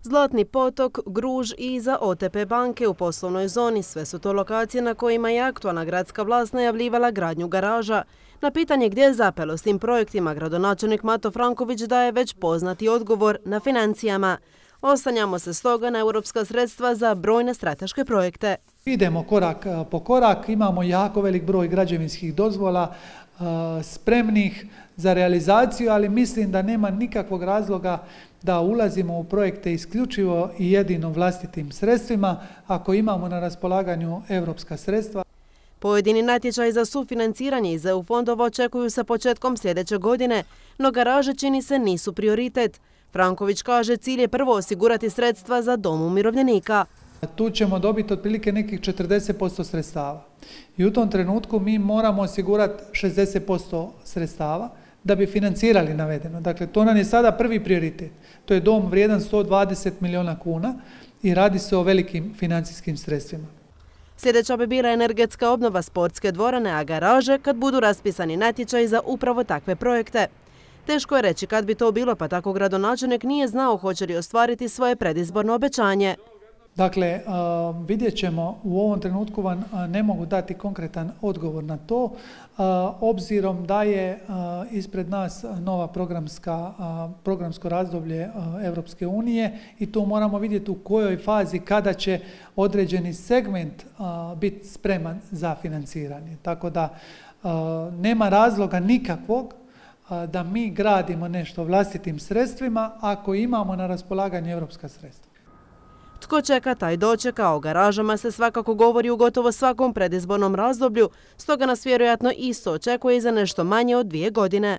Zlatni potok, Gruž i za OTP banke u poslovnoj zoni. Sve su to lokacije na kojima je aktualna gradska vlast najavljivala gradnju garaža. Na pitanje gdje je zapelo s tim projektima, gradonačelnik Mato Franković daje već poznati odgovor na financijama. Oslanjamo se stoga na europska sredstva za brojne strateške projekte. Idemo korak po korak, imamo jako velik broj građevinskih dozvola spremnih za realizaciju, ali mislim da nema nikakvog razloga da ulazimo u projekte isključivo i jedino vlastitim sredstvima ako imamo na raspolaganju europska sredstva. Pojedini natječaji za sufinanciranje iz EU fondova očekuju se početkom sljedeće godine, no garaže čini se nisu prioritet. Franković kaže cilj je prvo osigurati sredstva za dom umirovljenika. Tu ćemo dobiti otprilike nekih 40% sredstava. I u tom trenutku mi moramo osigurati 60% sredstava da bi financirali navedeno. Dakle, to nam je sada prvi prioritet. To je dom vrijedan 120 milijuna kuna i radi se o velikim financijskim sredstvima. Sljedeća bi bila energetska obnova sportske dvorane, a garaže kad budu raspisani natječaji za upravo takve projekte. Teško je reći kad bi to bilo, pa tako gradonačelnik nije znao hoće li ostvariti svoje predizborno obećanje. Dakle, vidjet ćemo, u ovom trenutku vam ne mogu dati konkretan odgovor na to, obzirom da je ispred nas nova programsko razdoblje Europske unije i tu moramo vidjeti u kojoj fazi kada će određeni segment biti spreman za financiranje. Tako da nema razloga nikakvog da mi gradimo nešto vlastitim sredstvima ako imamo na raspolaganju europska sredstva. Tko čeka, taj dočeka. O garažama se svakako govori u gotovo svakom predizbornom razdoblju, stoga nas vjerojatno isto očekuje i za nešto manje od 2 godine.